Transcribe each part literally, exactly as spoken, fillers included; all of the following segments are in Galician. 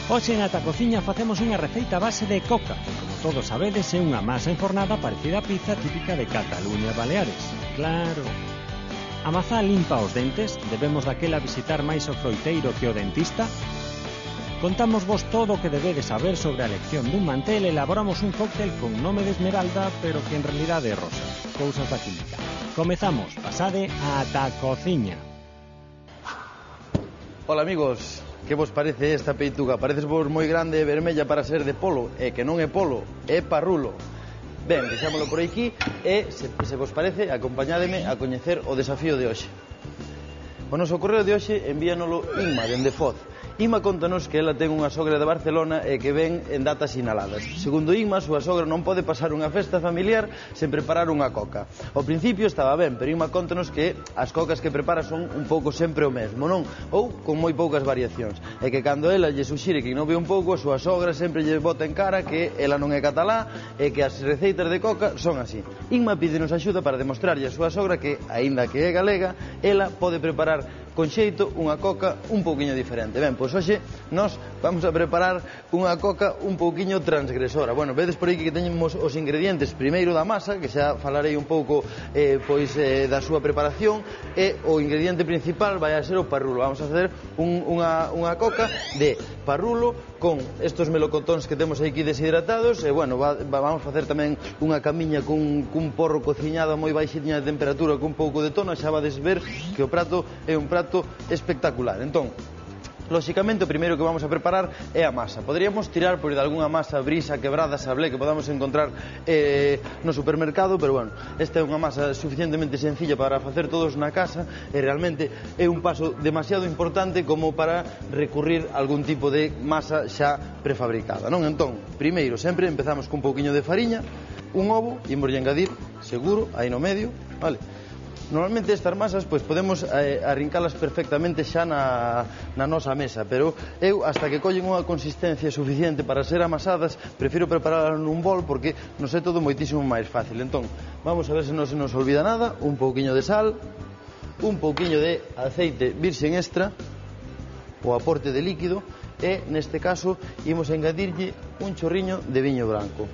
Hoxe na Atacociña facemos unha receita base de coca, que, como todos sabedes, é unha masa enfornada parecida á pizza típica de Cataluña e Baleares. Claro. A mazá limpa os dentes, debemos daquela visitar máis o froiteiro que o dentista. Contamos vos todo o que debedes saber sobre a elección dun mantel e elaboramos un cóctel con nome de esmeralda, pero que en realidade é rosa. Cousas da química. Comezamos, pasade a Atacociña. Ola amigos, que vos parece esta peituga? Pareces vos moi grande e vermella para ser de polo, e que non é polo, é parrulo. Ben, deixámolo por aquí e, se, se vos parece, acompañádeme a coñecer o desafío de hoxe. O noso correo de hoxe envíanolo Inma, dende Foz. Inma contanos que ela ten unha sogra de Barcelona e que ven en datas sinaladas. Segundo Inma, a súa sogra non pode pasar unha festa familiar sen preparar unha coca. Ao principio estaba ben, pero Inma contanos que as cocas que prepara son un pouco sempre o mesmo, non? Ou con moi poucas variacións. E que cando ela lle suxire que inove un pouco, a súa sogra sempre lle bota en cara que ela non é catalá e que as receitas de coca son así. Inma pídenos axuda para demostrarlle a súa sogra que, aínda que é galega, ela pode preparar con xeito unha coca un pouquiño diferente. Ben, pois hoxe nós vamos a preparar unha coca un pouquiño transgresora. Bueno, vedes por aí que teñemos os ingredientes primeiro da masa, que xa falarei un pouco eh, pois eh, da súa preparación, e o ingrediente principal vai a ser o parrulo. Vamos a facer un, unha, unha coca de parrulo con estos melocotóns que temos aquí deshidratados, e bueno, va, va, vamos a facer tamén unha camiña cun, cun porro cociñado a moi baixiña de temperatura con un pouco de tono. Xa vades ver que o prato é un prato espectacular. Entón, lóxicamente, o primeiro que vamos a preparar é a masa. Poderíamos tirar por de algunha masa brisa, quebrada, sablé, que podamos encontrar eh, no supermercado, pero bueno, esta é unha masa suficientemente sencilla para facer todos na casa e realmente é un paso demasiado importante como para recurrir a algún tipo de masa xa prefabricada, non? Entón, primeiro, sempre empezamos cun pouquiño de fariña, un ovo, e imos engadir, seguro, aí no medio, vale? Normalmente estas masas pois podemos eh, arrincalas perfectamente xa na, na nosa mesa, pero eu, hasta que collen unha consistencia suficiente para ser amasadas, prefiro prepararlas nun bol porque nos é todo moitísimo máis fácil. Entón, vamos a ver se non se nos olvida nada. Un pouquiño de sal, un pouquiño de aceite virxen extra, o aporte de líquido, e neste caso imos engadirlle un chorriño de viño branco.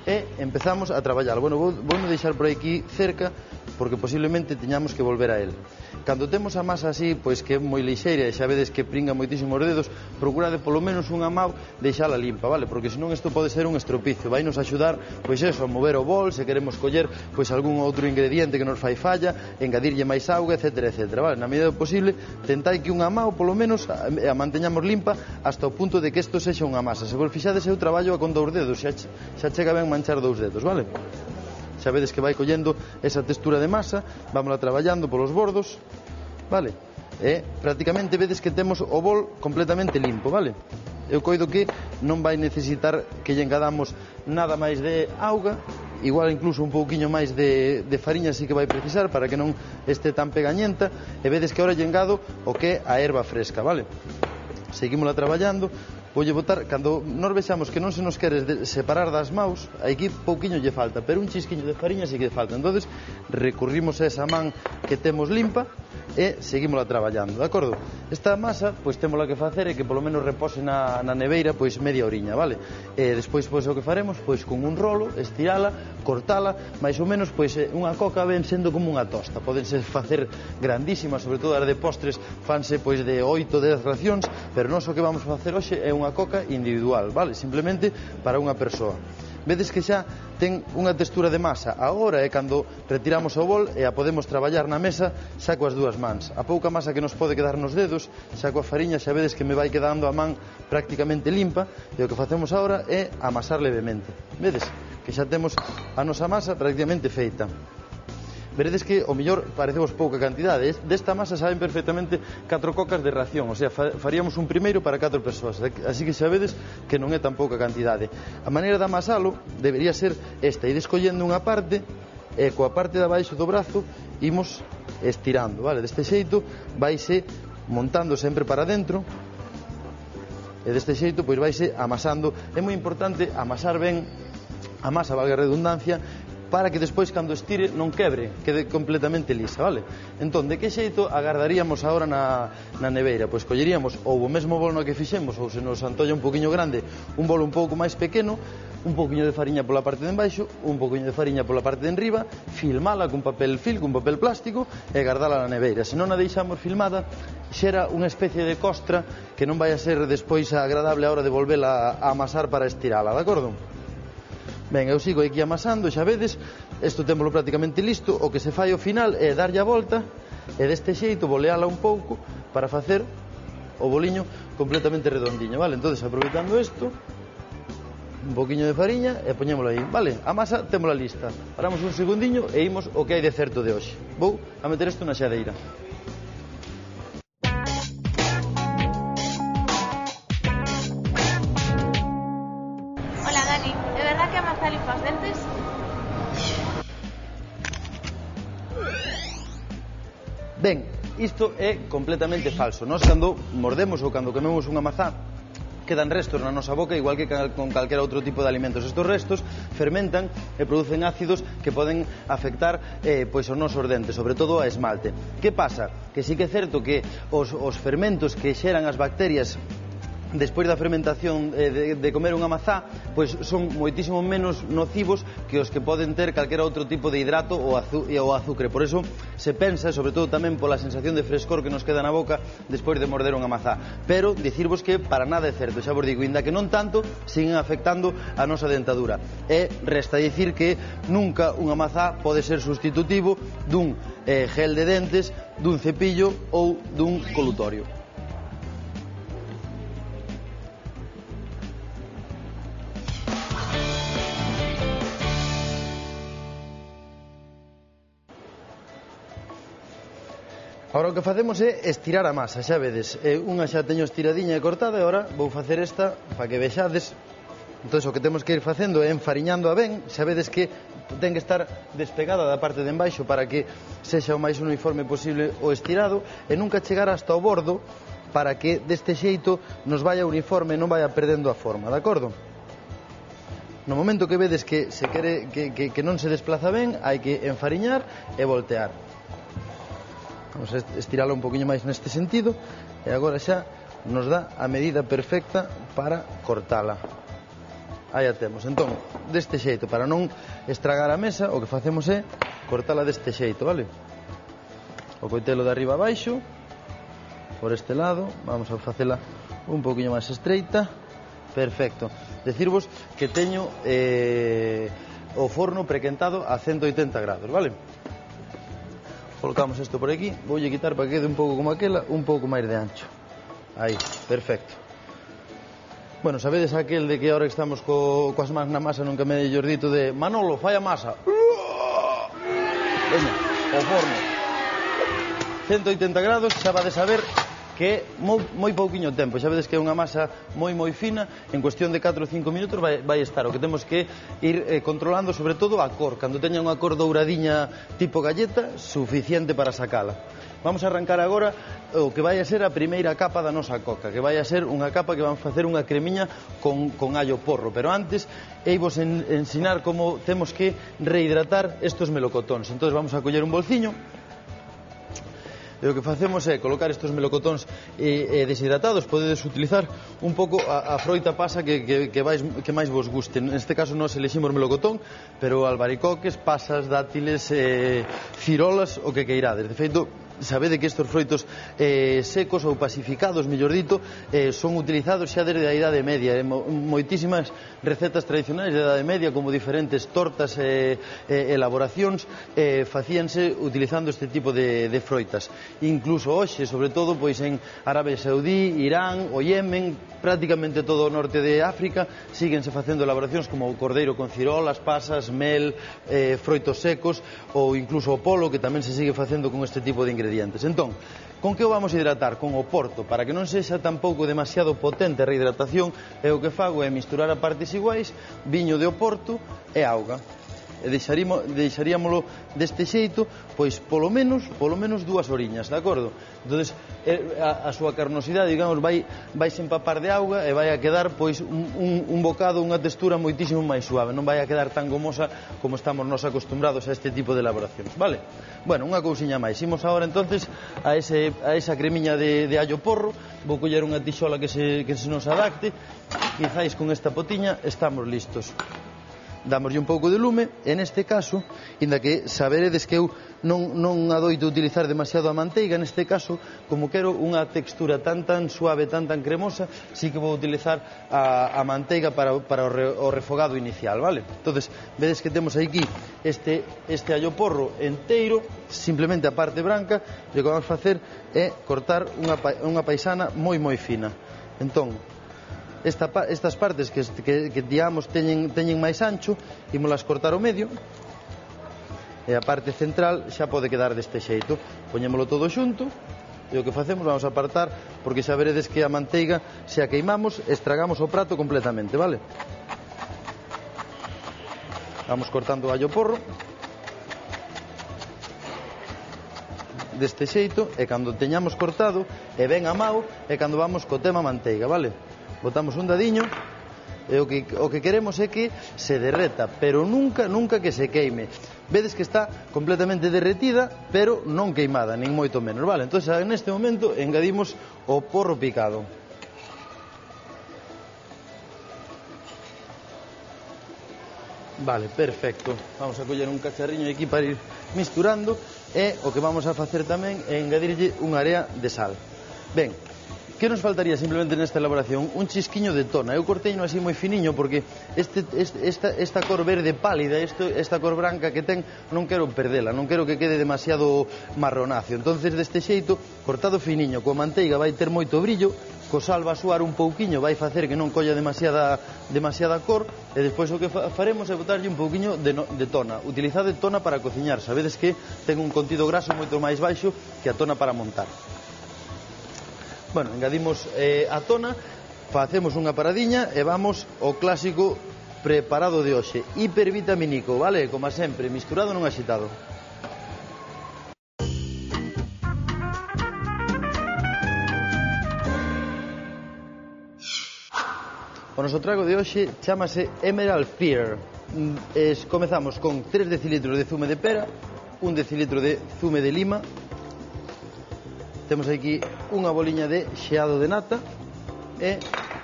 E empezamos a traballar. Bueno, vou, vou deixar por aquí cerca porque posiblemente teñamos que volver a él. Cando temos a masa así, pois que é moi lixeira e xa vedes que pringa moitísimo os dedos, procurade polo menos unha mau deixala limpa, vale? Porque senón isto pode ser un estropicio. Vai nos axudar, pois eso, a mover o bol, se queremos coller pois algún outro ingrediente que nos fai falla, engadirlle máis auga, etcétera, etcétera, vale? Na medida do posible, tentai que unha mau polo menos a, a manteñamos limpa hasta o punto de que isto sexa unha masa. Se vos fixades, eu traballo a con dous dedos, xa, xa chega ben manchar dous dedos, vale? Xa vedes que vai collendo esa textura de masa, vámola traballando polos bordos, vale? E prácticamente vedes que temos o bol completamente limpo, vale? Eu coido que non vai necesitar que lle engadamos nada máis de auga, igual incluso un pouquiño máis de, de fariña sí que vai precisar para que non este tan pegañenta, e vedes que ahora lle engado o que é a erva fresca, vale? Seguímola traballando. Voulle botar, cando nos vexamos que non se nos queres separar das maus, aquí pouquiño lle falta, pero un chisquiño de fariña sí que lle falta. Entonces recurrimos a esa man que temos limpa e seguímola traballando, de acordo? Esta masa, pois témola que facer e que polo menos repose na, na neveira pois media oriña, vale? E despois, pois o que faremos, pois con un rolo, estirala, cortala, máis ou menos, pois unha coca ven sendo como unha tosta. Podense facer grandísimas, sobre todo as de postres, fanse pois de oito, dez racións, pero nós o que vamos a facer hoxe é unha coca individual, vale? Simplemente para unha persoa. Vedes que xa ten unha textura de masa. Agora é cando retiramos o bol e a podemos traballar na mesa xa coas dúas mans. A pouca masa que nos pode quedar nos dedos, xa coa fariña xa vedes que me vai quedando a man prácticamente limpa, e o que facemos agora é amasar levemente. Vedes que xa temos a nosa masa prácticamente feita. Veredes que o mellor parecemos pouca cantidade. Desta masa saben perfectamente catro cocas de ración, o sea, faríamos un primeiro para catro persoas, así que xa vedes que non é tan pouca cantidade. A maneira de amasalo debería ser esta: ir escollendo unha parte e coa parte de abaixo do brazo imos estirando, vale? Deste xeito vaise montando sempre para dentro e deste xeito pois vaise amasando. É moi importante amasar ben a masa, valga a redundancia, para que despois cando estire non quebre, quede completamente lisa, vale? Entón, de que xeito agardaríamos agora na, na neveira? Pois colleríamos ou o mesmo bolo no que fixemos, ou se nos antolla un poquinho grande, un bolo un pouco máis pequeno, un poquinho de fariña pola parte de embaixo, un poquinho de fariña pola parte de enriba, filmala cun papel film, cun papel plástico e guardala na neveira. Se non a deixamos filmada, xera unha especie de costra que non vai a ser despois agradable a hora de volvela a amasar para estirala, de acordo? Ben, eu sigo aquí amasando, xa vedes, isto témolo prácticamente listo, o que se fai ao final é darlle a volta e deste xeito boleala un pouco para facer o boliño completamente redondiño, vale? Entón, aproveitando isto, un poquinho de fariña e poñémolo aí, vale? A masa témola lista, paramos un segundiño e imos o que hai de certo de hoxe. Vou a meter isto na xadeira. Limpa os dentes? Ben, isto é completamente falso. Nós cando mordemos ou cando comemos unha mazá quedan restos na nosa boca igual que con calquera outro tipo de alimentos. Estos restos fermentan e producen ácidos que poden afectar eh, pois os nosos dentes, sobre todo a esmalte. Que pasa? Que sí que é certo que os, os fermentos que xeran as bacterias despois da fermentación de, de comer unha mazá, pois son moitísimo menos nocivos que os que poden ter calquera outro tipo de hidrato ou, azu, ou azúcar. Por eso se pensa, sobre todo tamén pola sensación de frescor que nos queda na boca despois de morder unha mazá. Pero dicirvos que para nada é certo, xa vos digo, inda que non tanto, siguen afectando a nosa dentadura. E resta dicir que nunca unha mazá pode ser sustitutivo dun eh, gel de dentes, dun cepillo ou dun colutorio. Agora o que facemos é estirar a masa, xa vedes, unha xa teño estiradiña e cortada e agora vou facer esta para que vexades. Entón, o que temos que ir facendo é enfariñando a ben, xa vedes que ten que estar despegada da parte de embaixo para que sexa o máis uniforme posible o estirado e nunca chegar hasta o bordo para que deste xeito nos vaya uniforme e non vaya perdendo a forma, de acordo? No momento que vedes que, se quere, que, que, que non se desplaza ben, hai que enfariñar e voltear. Vamos a estirala un poquinho máis neste sentido e agora xa nos dá a medida perfecta para cortala. Aí a temos. Entón, deste xeito, para non estragar a mesa, o que facemos é cortala deste xeito, vale? O coitelo de arriba abaixo, por este lado, vamos a facela un poquinho máis estreita. Perfecto. Decirvos que teño eh, o forno prequentado a ciento oitenta grados, vale? Colocamos isto por aquí, voulle quitar para que quede un pouco como aquela, un pouco máis de ancho. Aí, perfecto. Bueno, sabedes aquel de que ahora estamos co, coas mans na masa, nunca me dei dito de Manolo, fai a masa. Veña, o forno. ciento oitenta grados, xa vades a ver que é moi, moi pouquiño tempo. Xa vedes que é unha masa moi moi fina, en cuestión de catro ou cinco minutos vai, vai estar. O que temos que ir eh, controlando sobre todo a cor. Cando teña unha cor douradiña tipo galleta, suficiente para sacala. Vamos a arrancar agora o que vai a ser a primeira capa da nosa coca, que vai a ser unha capa que vamos facer unha cremiña con, con allo porro. Pero antes, eivos en, ensinar como temos que rehidratar estos melocotóns. Entón vamos a coller un bolsiño. E o que facemos é colocar estes melocotóns eh, deshidratados. Podedes utilizar un pouco a, a froita pasa que, que, que, vais, que máis vos guste. Neste caso nós eleximos melocotón, pero albaricoques, pasas, dátiles, eh, cirolas, o que queirades. De feito, sabede que estes froitos eh, secos ou pacificados, mellor dito, eh, son utilizados xa desde a Idade Media. Eh, moitísimas recetas tradicionais da Idade Media, como diferentes tortas e eh, eh, elaboracións, eh, facíanse utilizando este tipo de, de froitas. Incluso hoxe, sobre todo, pois en Arabia Saudí, Irán, o Yemen, prácticamente todo o norte de África, síguense facendo elaboracións como o cordeiro con cirolas, pasas, mel, eh, froitos secos, ou incluso o polo, que tamén se sigue facendo con este tipo de ingredientes. Entón, con que o vamos a hidratar? Con o porto, para que non sexa tampouco demasiado potente a rehidratación, e o que fago é misturar a partes iguais viño de Oporto e auga. e deixaríamolo deste xeito, pois polo menos, polo menos dúas horiñas, de acordo? Entonces, a, a súa carnosidade, digamos, vai, vai se empapar de auga e vai a quedar, pois, un, un, un bocado, unha textura moitísimo máis suave, non vai a quedar tan gomosa como estamos nos acostumbrados a este tipo de elaboracións, vale? Bueno, unha cousiña máis, imos agora, entonces, a, ese, a esa cremiña de, de allo porro, vou coller unha tixola que se, que se nos adapte, quizáis con esta potiña estamos listos. Dámoslle un pouco de lume, e neste caso, inda que saberedes que eu non, non adoito utilizar demasiado a manteiga, neste caso, como quero unha textura tan tan suave, tan tan cremosa, sí que vou utilizar a, a manteiga para, para o, re, o refogado inicial, vale? Entonces, vedes que temos aquí este, este allo porro enteiro, simplemente a parte branca, e o que vamos facer é cortar unha, unha paisana moi moi fina. Entón, Esta, estas partes que, que, que digamos teñen, teñen máis ancho, ímolas cortar ao medio, e a parte central xa pode quedar deste xeito. Poñémolo todo xunto, e o que facemos, vamos a apartar, porque xa veredes que a manteiga, se a queimamos, estragamos o prato completamente, vale? Vamos cortando o allo porro deste xeito, e cando teñamos cortado e ben amao, é cando vamos co tema manteiga, vale? Botamos un dadiño, e o que, o que queremos é que se derreta, pero nunca, nunca que se queime. Vedes que está completamente derretida, pero non queimada, nin moito menos, vale? Entón, neste momento, engadimos o porro picado. Vale, perfecto. Vamos a coller un cacharriño aquí para ir misturando, e o que vamos a facer tamén é engadirlle unha area de sal. Ben, que nos faltaría simplemente nesta elaboración? Un chisquiño de tona. Eu corteino así moi finiño porque este, este, esta, esta cor verde pálida, esto, esta cor branca que ten, non quero perdela, non quero que quede demasiado marronáceo. Entonces, deste xeito, cortado finiño, coa manteiga vai ter moito brillo, co sal va a suar un pouquiño, vai facer que non colla demasiada, demasiada cor, e despois o que faremos é botarlle un pouquiño de, no, de tona. Utilizade tona para cociñar, sabedes que ten un contido graso moito máis baixo que a tona para montar. Bueno, engadimos eh, a tona, facemos unha paradiña e vamos ao clásico preparado de hoxe, hipervitamínico, vale? Como sempre, misturado non axitado. O noso trago de hoxe chamase Emerald Pear. Es, comezamos con tres decilitros de zume de pera, un decilitro de zume de lima. Temos aquí unha boliña de xeado de nata e,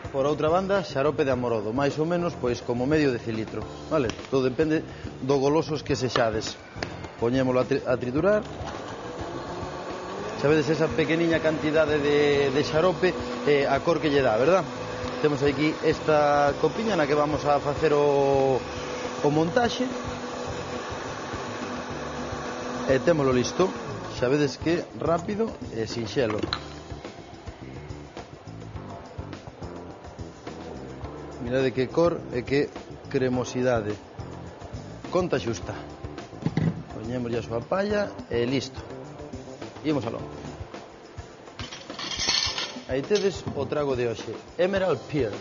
por outra banda, xarope de amorodo, máis ou menos, pois, como medio decilitro, vale? Todo depende do golosos que sexades. Poñémolo a, tri a triturar. Sabedes esa pequeniña cantidade de, de xarope e a cor que lle dá, verdad? Temos aquí esta copiña na que vamos a facer o, o montaxe. E témolo listo. Sabedes que rápido e sinxelo. Mirade que cor e que cremosidade. Conta xusta. Poñemos a súa palla e listo. Imos aló. Aí tedes o trago de hoxe, Emerald Pear.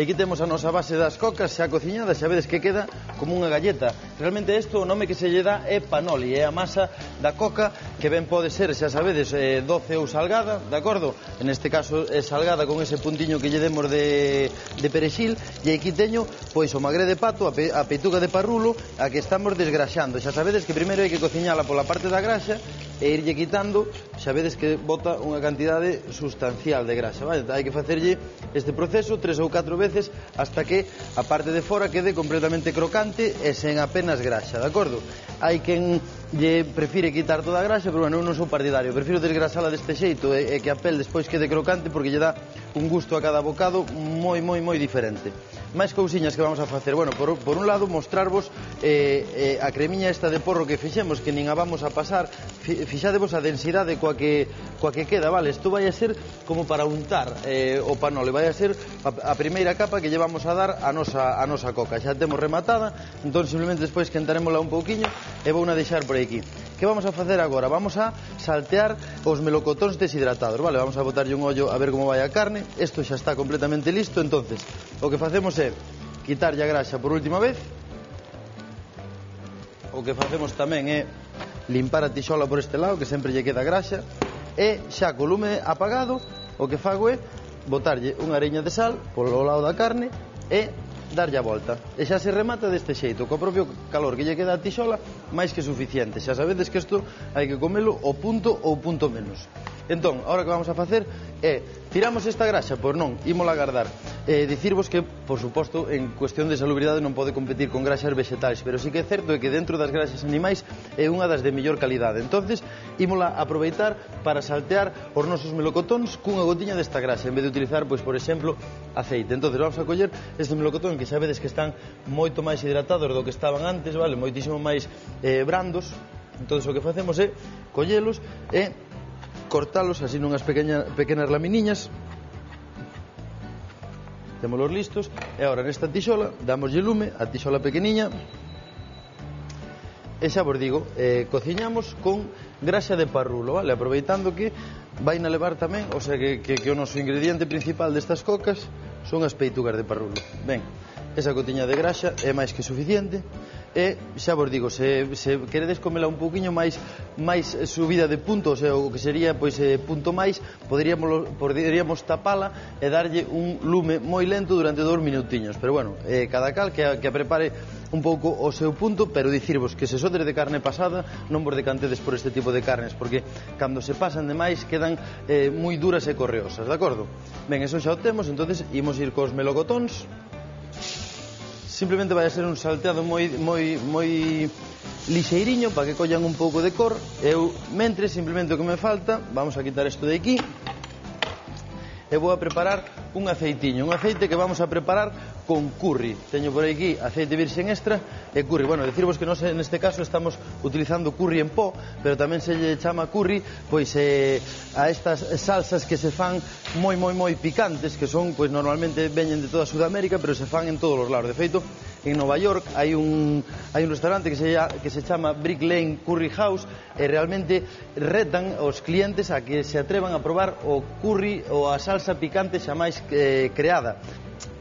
E aquí temos a nosa base das cocas xa cociñada, xa vedes que queda como unha galleta. Realmente isto, o nome que se lle dá é panoli, é a masa da coca que ben pode ser, xa sabedes, eh, doce ou salgada, de acordo? En este caso é salgada con ese puntiño que lle demos de, de perexil, e aquí teño pois o magre de pato, a, pe, a peituga de parrulo, a que estamos desgraxando. Xa sabedes que primeiro hai que cociñala pola parte da graxa e irlle quitando, xa vedes que bota unha cantidade sustancial de graxa, vale? Hai que facerlle este proceso tres ou catro veces hasta que a parte de fora quede completamente crocante e sen apenas graxa, de acordo? Hai quen lle prefire quitar toda a graxa, pero bueno, eu non sou partidario, prefiro desgrasala deste xeito e, e que a pel despois quede crocante porque lle dá un gusto a cada bocado moi, moi, moi diferente. Máis cousiñas que vamos a facer, bueno, por, por un lado mostrarvos eh, eh, a cremiña esta de porro que fixemos, que nin a vamos a pasar, fixadevos a densidade coa que, coa que queda, vale? Isto vai a ser como para untar eh, o panole, vai a ser a, a primeira capa que lle vamos a dar a nosa, a nosa coca. Xa temos rematada, entón simplemente despois quentarémola un pouquiño e vou na deixar por aquí. que vamos a facer agora? Vamos a saltear os melocotóns deshidratados, vale? Vamos a botarlle un ollo a ver como vai a carne. Isto xa está completamente listo, entonces o que facemos é quitarlle a graxa por última vez. O que facemos tamén é limpar a tixola por este lado, que sempre lle queda graxa, e xa co lume apagado o que fago é botarlle unha areña de sal polo lado da carne e darlle a volta. E xa se remata deste xeito, co propio calor que lle queda a tixola, máis que suficiente. Xa sabedes que isto hai que comelo o punto ou punto menos. Entón, agora que vamos a facer é tiramos esta graxa, pois non, ímola guardar. Eh, dicirvos que, por suposto, en cuestión de salubridade non pode competir con graxas vegetais, pero sí que é certo que dentro das graxas animais é unha das de mellor calidade. Entonces, ímola aproveitar para saltear os nosos melocotóns cunha gotiña desta graxa, en vez de utilizar, pois, por exemplo, aceite. Entonces, vamos a coller este melocotón que xa vedes que están moito máis hidratados do que estaban antes, vale? Moitísimo máis eh, brandos. Entonces, o que facemos é collelos e cortalos así nunhas pequeñas, pequenas laminiñas. Témolos listos. E agora nesta tixola damoslle lume a tixola pequeniña. E xa vos digo, eh, cociñamos con graxa de parrulo, vale? Aproveitando que vai na levar tamén, o sea que, que, que o noso ingrediente principal destas cocas son as peitugas de parrulo. Ben, esa cotiña de graxa é máis que suficiente. E xa vos digo, se, se queredes comela un pouquiño máis máis subida de punto, o sea, o que sería pois eh, punto máis, poderíamos, poderíamos tapala e darlle un lume moi lento durante dous minutiños, pero bueno, eh, cada cal que a, que a prepare un pouco o seu punto, pero dicirvos que se sodes de carne pasada non vos decantedes por este tipo de carnes, porque cando se pasan demais quedan eh, moi duras e correosas, de acordo? Ben, eso xa o temos, entonces imos ir cos melocotóns. Simplemente vai a ser un salteado moi, moi, moi lixeiriño para que collan un pouco de cor. Eu, mentre, simplemente o que me falta, vamos a quitar isto de aquí e vou a preparar un aceitiño, un aceite que vamos a preparar con curry. Teño por aquí aceite virxen extra e curry. Bueno, decirvos que nós neste caso estamos utilizando curry en pó, pero tamén se lle chama curry pois eh, a estas salsas que se fan moi moi moi picantes, que son, pois normalmente veñen de toda Sudamérica, pero se fan en todos os lados. De feito, en Nova York hai un, hai un restaurante que se, que se chama Brick Lane Curry House e realmente retan os clientes a que se atrevan a probar o curry ou a salsa picante xa máis eh, creada.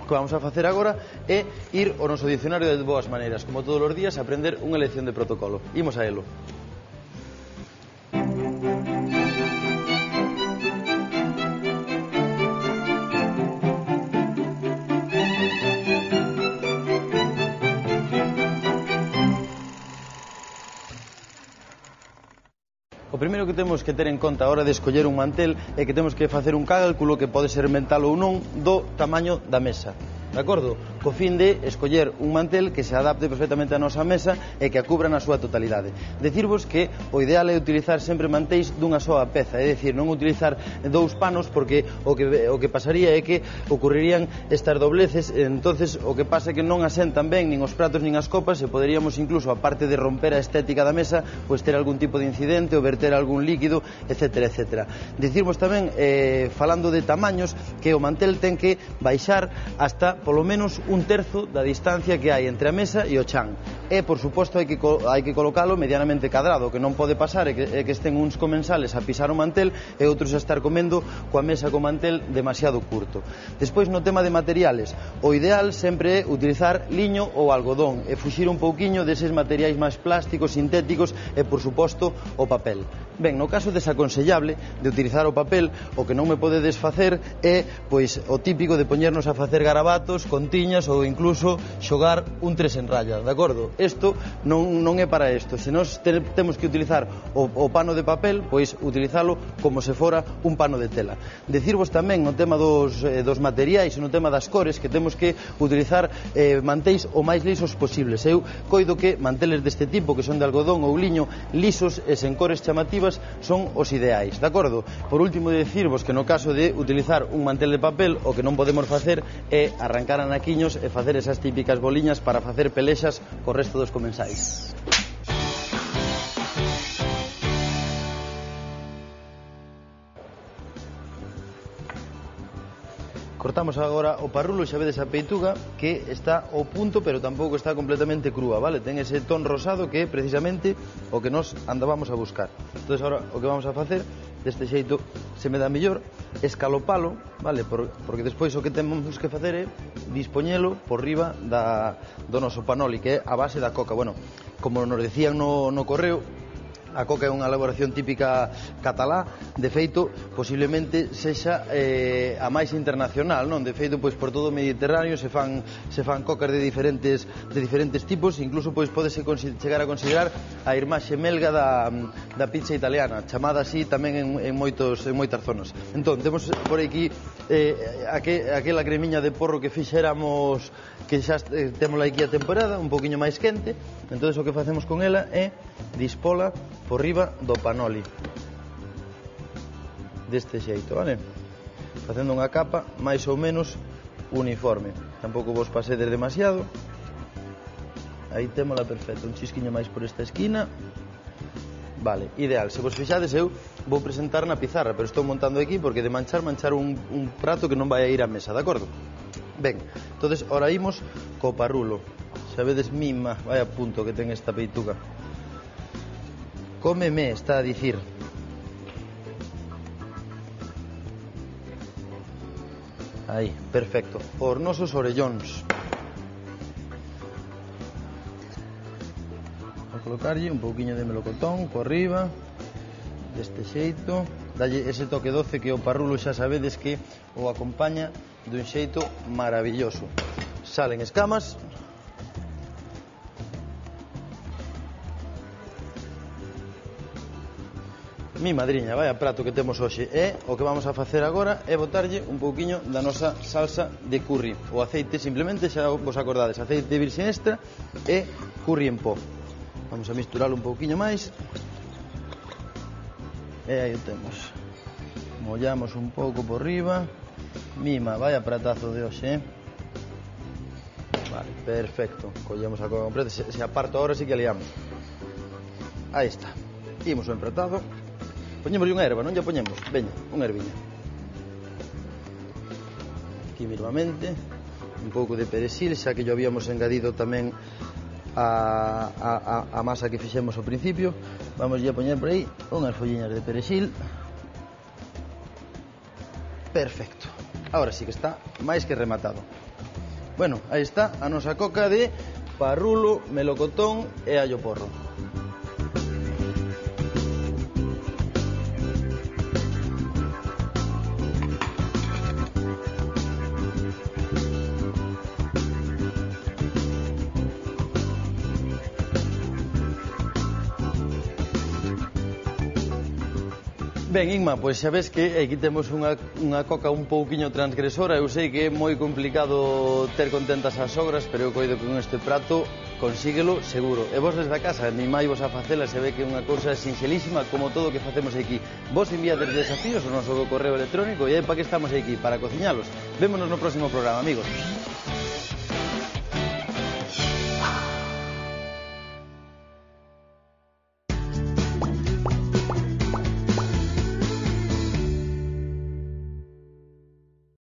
O que vamos a facer agora é ir ao noso dicionario de boas maneiras, como todos os días, aprender unha lección de protocolo. Imos a elo. O primeiro que temos que ter en conta a hora de escoller un mantel é que temos que facer un cálculo, que pode ser mental ou non, do tamaño da mesa. De acordo? Co fin de escoller un mantel que se adapte perfectamente á nosa mesa e que a cubra na súa totalidade. Decirvos que o ideal é utilizar sempre mantéis dunha soa peza, é dicir, non utilizar dous panos, porque o que, o que pasaría é que ocurrirían estas dobleces, entonces o que pasa é que non asentan ben nin os pratos nin as copas e poderíamos incluso, aparte de romper a estética da mesa, pois ter algún tipo de incidente ou verter algún líquido, etcétera, etcétera. Decirvos tamén, eh, falando de tamaños, que o mantel ten que baixar hasta polo menos un terzo da distancia que hai entre a mesa e o chan. E, por suposto, hai que, hai que colocalo medianamente cadrado. O que non pode pasar é que, é que estén uns comensales a pisar o mantel e outros a estar comendo coa mesa co mantel demasiado curto. Despois, no tema de materiales, o ideal sempre é utilizar liño ou algodón e fuxir un pouquiño deses materiais máis plásticos, sintéticos e, por suposto, o papel. Ben, no caso desaconsellable de utilizar o papel, o que non me pode desfacer é, pois, o típico de poñernos a facer garabatos con tiñas ou incluso xogar un tres en raya, de acordo? Isto non, non é para isto. Se nós te, temos que utilizar o, o pano de papel, pois utilizalo como se fora un pano de tela. Decirvos tamén no tema dos, eh, dos materiais e no tema das cores que temos que utilizar eh, mantéis o máis lisos posibles. Eu coido que manteles deste tipo, que son de algodón ou liño, lisos e sen cores chamativas, son os ideais, de acordo? Por último, decirvos que no caso de utilizar un mantel de papel, o que non podemos facer é arrancar anaquiños e facer esas típicas boliñas para facer pelexas co resto dos comensais. Co cortamos agora o parrulo, xa vedes a peituga que está ao punto, pero tampouco está completamente crúa, vale? Ten ese ton rosado que é precisamente o que nos andábamos a buscar. Entón, agora o que vamos a facer, deste xeito se me dá mellor, escalopalo, vale? Por, porque despois o que temos que facer é dispoñelo por riba da, do noso panoli, que é a base da coca. Bueno, como nos decían no, no correo, a coca é unha elaboración típica catalá, de feito, posiblemente sexa eh, a máis internacional, non? De feito, pois por todo o Mediterráneo se fan se fan cocas de diferentes de diferentes tipos, incluso pois pódese chegar a considerar a irmá xemelga da, da pizza italiana, chamada así tamén en, en moitos en moitas zonas. Entón, temos por aquí eh, aqu aquela cremiña de porro que fixéramos, que xa eh, témola aquí a temporada, un poquinho máis quente. Entón, o que facemos con ela é dispola por riba do panoli deste xeito, vale? Facendo unha capa máis ou menos uniforme, tampouco vos pasedes demasiado. Aí témola perfecta, un chisquiño máis por esta esquina, vale, ideal. Se vos fixades, eu vou presentar na pizarra, pero estou montando aquí porque de manchar, manchar un, un prato que non vai a ir á mesa, de acordo? Ben, entonces, ora imos co parrulo. Sabedes, mima, vai a punto que ten esta peituga. Cómeme, está a dicir. Aí, perfecto. Os nosos orellóns. Vou colocarlle un pouquiño de melocotón por riba, deste xeito. Dalle ese toque doce que o parrulo xa sabedes que o acompaña dun xeito maravilloso. Salen escamas. Mi madriña, vai a prato que temos hoxe. E o que vamos a facer agora é botarlle un pouquiño da nosa salsa de curry. O aceite, simplemente, xa vos acordades, aceite de virxe extra e curry en pó. Vamos a misturalo un pouquiño máis. E aí o temos. Mollamos un pouco por riba. Mima, vai a pratazo de hoxe, eh? Vale, perfecto. Collemos a coca completa. Se, se aparto agora sí que liamos. Aí está. Imos o empratado. Poñémoslle unha erva, non lle poñemos? Veña, unha erviña. Aquí minimamente. Un pouco de perexil, xa que yo habíamos engadido tamén a, a, a masa que fixemos ao principio. Vamos a poñer por aí unhas folliñas de perexil. Perfecto. Ahora sí que está máis que rematado. Bueno, aí está a nosa coca de parrulo, melocotón e allo porro. Ben, Inma, pois xa ves que aquí temos unha, unha coca un pouquiño transgresora. Eu sei que é moi complicado ter contentas as sogras, pero eu coido que con este prato consíguelo seguro. E vos desde a casa, animai vos a facela, se ve que é unha cousa sinxelísima como todo o que facemos aquí. Vos enviades desafíos ao noso correo electrónico e é para que estamos aquí, para cociñalos. Vémonos no próximo programa, amigos.